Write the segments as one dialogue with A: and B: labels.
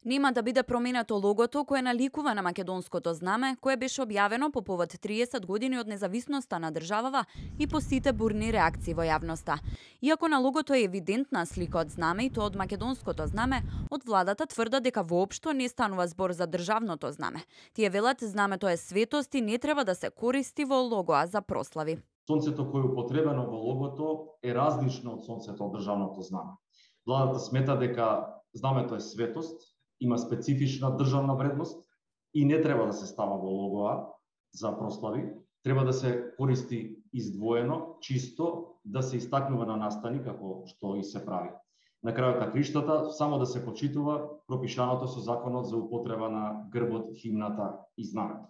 A: Нема да биде променето логото кое наликува на македонското знаме, кое беше објавено по повод 30 години од независноста на државава и по сите бурни реакции во јавноста. Иако на логото е евидентна слика од знаме и тоа од македонското знаме, од владата тврдат дека воопшто не станува збор за државното знаме. Тие велат знамето е светост и не треба да се користи во логоа за прослави.
B: Сонцето кое е употребено во логото е различно од сонцето од државното знаме. Владата смета дека знамето е светост, има специфична државна вредност и не треба да се става во логоа за прослави, треба да се користи издвоено, чисто, да се истакнува на настани како што и се прави. На крајот на криштата само да се почитува пропишаното со законот за употреба на грбот, химната и знамето.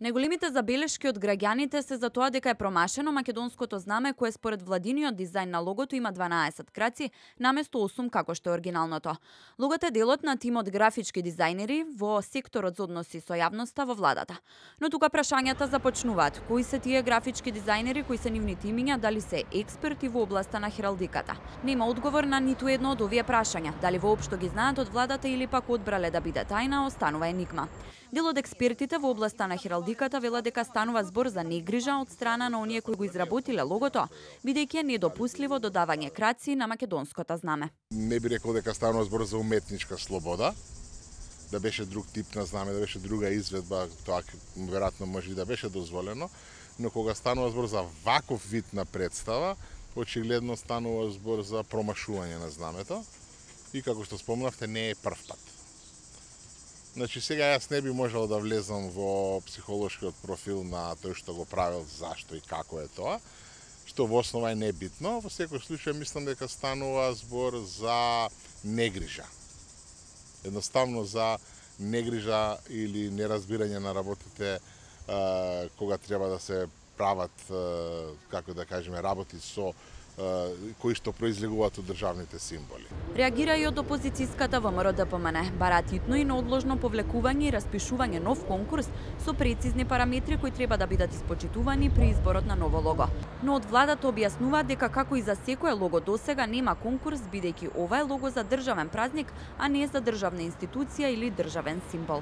A: Најголемите забелешки од граѓаните се за тоа дека е промашено македонското знаме кое според владиниот дизајн на логото има 12 краци наместо 8 како што е оригиналното. Логото е делот на тимот графички дизајнери во секторот за односи со јавноста во владата. Но тука прашањата започнуваат. Кои се тие графички дизајнери, кои се нивните имиња, дали се експерти во областа на хералдиката? Нема одговор на ниту едно од овие прашања. Дали воопшто ги знаат од владата или пак одбрале да биде тајна, останува енигма. Дел од експертите во областа на хералдиката вела дека станува збор за негрижа од страна на оние кои го изработиле логото, бидејќи е недопустливо додавање краци на македонското знаме.
C: Не би рекол дека станува збор за уметничка слобода, да беше друг тип на знаме, да беше друга изведба, тоа веројатно може и да беше дозволено, но кога станува збор за ваков вид на представа, очигледно станува збор за промашување на знамето и како што спомнавте не е прв пат. Значи сега јас не би можел да влезам во психолошкиот профил на тој што го правил, зашто и како е тоа, што во основа е небитно. Во секој случај мислам дека станува збор за негрижа. Едноставно за негрижа или неразбирање на работите кога треба да се прават, како да кажеме, работи со кои што произлегуваат од државните символи.
A: Реагира и од опозицијската ВМРО ДПМН. Бараат хитно и неодложно повлекување и распишување нов конкурс со прецизни параметри кои треба да бидат испочитувани при изборот на ново лого. Но од владата објаснуваат дека како и за секое лого досега нема конкурс, бидејќи ова е лого за државен празник, а не за државна институција или државен символ.